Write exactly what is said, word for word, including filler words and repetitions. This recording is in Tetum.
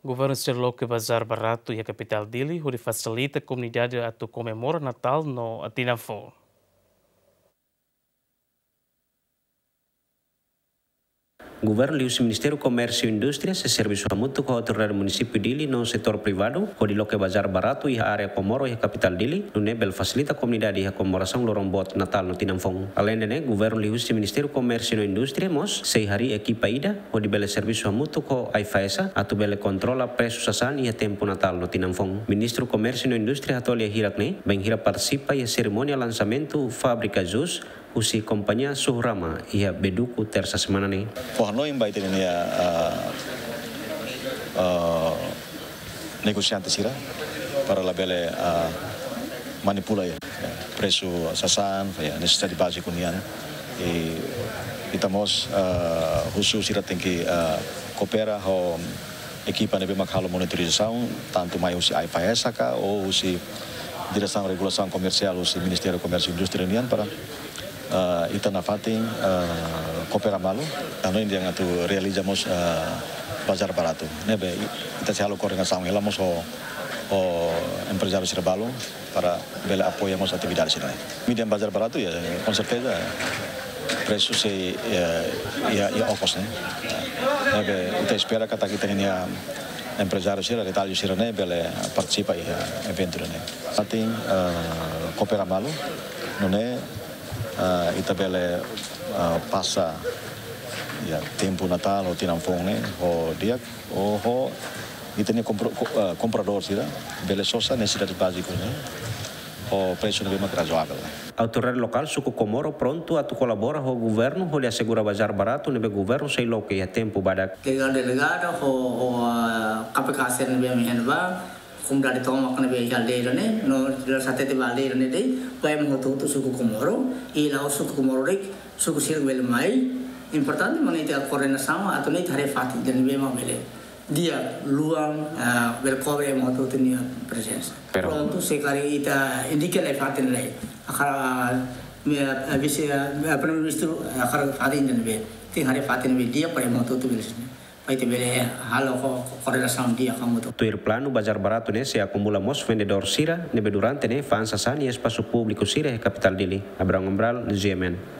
Governu sei loke bazár baratu iha kapitál Dili, hodi fasilita komunidade atu komemora Natál no Tinan Foun. Governu liuhusi Ministériu Komérsiu Indústria sei servisu hamutuk ho autoridade munisípiu Dili no setór privadu, hodi loke bazár baratu iha área Comoro iha kapitál Dili, nune'e bele fasilita komunidade iha komemorasaun loron boot Natál no Tinan Foun. Aleinde ne'e, governu liuhusi Ministériu Komérsiu no Indústria mós sei harii ekipa ida, hodi bele servisu hamutuk ho AIFAESA, atu bele kontrola presu sasán iha tempu Natál no Tinan Foun. Ministru Komérsiu no Indústria hato'o lia hirak ne'e, bainhira partisipa iha serimónia lansamentu fábrika jus husi kompañia Suhurama iha Beduku, tersa semana ne'e. Fó hanoin ba ita-nia, ah, ah, negosiante sira para labele, ah, manipula, ya, presu sasán, ya, nesesidade báziku nian. I ita mós, ah, husu sira tenke, ah, koopera ho ekipa ne'ebé mak halo monitorizasaun, tantu mai husi AIFAESA ka ou husi Diresaun Regulasaun Komersiál husi Ministériu Komérsiu Indústria nian para, ah, ita nafatin, ah, koopera malu, anu ida atu realiza mós, ah, bazár baratu. Ne'ebé ita sei halo koordenasaun hela mós ho, ho emprezáriu sira balun para bele apoia mós atividade sira-ne'e. Median bazár baratu, ya, com certeza, presu sei, ya, ya, ya okos, ne'e. Ne'ebé ita espera katak ita-nia emprezáriu sira, retallu sira-ne'e bele partisipa iha eventu ne'e. Atin, ah, koopera malu, nune'e, ah, ita bele, ah, pasa, ya, tempu Natál ou Tinan Foun ne'e ho di'ak, ho, ho ita-nia kompra-, ko-, ah, kompradór sira bele sosa nesesidade báziku ne'e ho presu ne'ebé mak razoavel. Autoridade lokál suku Comoro prontu atu kolabora ho governu hodi asegura bazár baratu ne'ebé governu sei loke iha tempu badak. Delegadu, delegada ho, ho, ah, KPK sira ne'ebé mak iha ne'ebá, komunidade tomak ne'ebé iha aldeia ne'e, no, hatete ba aldeia ne'e de'it, ba ema hotu-hotu suku Comoro, i la'ós suku Comoro de'it, suku sira bele mai. Importante mak ne'e ita koordenasaun, atu nune'e ita haree fatin ida ne'ebé mak bele di'ak, luan, ah, bele kobre ema hotu-hotu nia prezensa. Pero prontu, se karik ita indika lai fatin lai. Hakarak, ah, mi, ah, vise, ah, mi, ah, Primeiru-Ministru, ah, hakarak fatin ida ne'ebé. Tenke haree fatin ne'ebé di'ak para ema hotu-hotu bele sini. Para ita bele halo ko-, ko-, koordenasaun di'ak hamutuk. Tuir planu, bazár baratu ne'e sei akumula mós vendedór sira ne'ebé durante ne'e fa'an sasán iha espasu públiku sira iha kapitál Dili. Abraham Cabral, GMN.